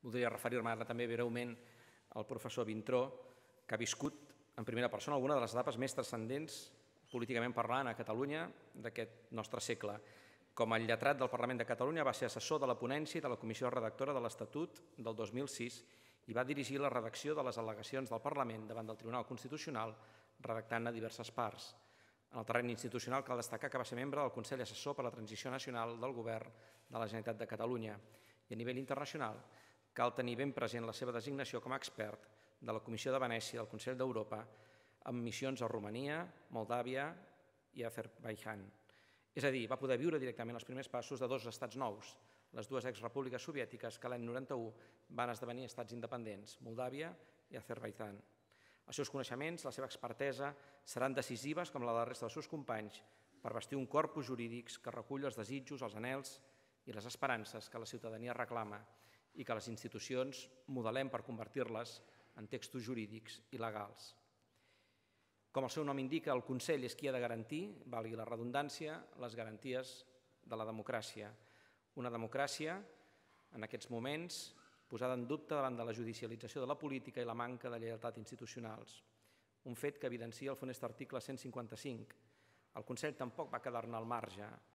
Voldria referir-me ara també breument al professor Vintró, que ha viscut en primera persona alguna de les etapes més transcendents políticament parlant a Catalunya d'aquest nostre segle. Com a lletrat del Parlament de Catalunya va ser assessor de la ponència i de la comissió redactora de l'Estatut del 2006 i va dirigir la redacció de les al·legacions del Parlament davant del Tribunal Constitucional, redactant-ne diverses parts. En el terreny institucional cal destacar que va ser membre del Consell Assessor per a la Transició Nacional del Govern de la Generalitat de Catalunya i a nivell internacional cal tenir ben present la seva designació com a expert de la Comissió de Venècia del Consell d'Europa amb missions a Romania, Moldàvia i Azerbaidjan. És a dir, va poder viure directament els primers passos de dos estats nous, les dues exrepúbliques soviètiques que l'any 91 van esdevenir estats independents, Moldàvia i Azerbaidjan. Els seus coneixements, la seva expertesa, seran decisives, com la de la resta dels seus companys, per bastir un corpus jurídics que recull els desitjos, els anhels i les esperances que la ciutadania reclama i que les institucions modelem per convertir-les en textos jurídics i legals. Com el seu nom indica, el Consell és qui ha de garantir, valgui la redundància, les garanties de la democràcia. Una democràcia, en aquests moments, posada en dubte davant de la judicialització de la política i la manca de lleialtat institucionals. Un fet que evidencia el funest article 155. El Consell tampoc va quedar-ne al marge.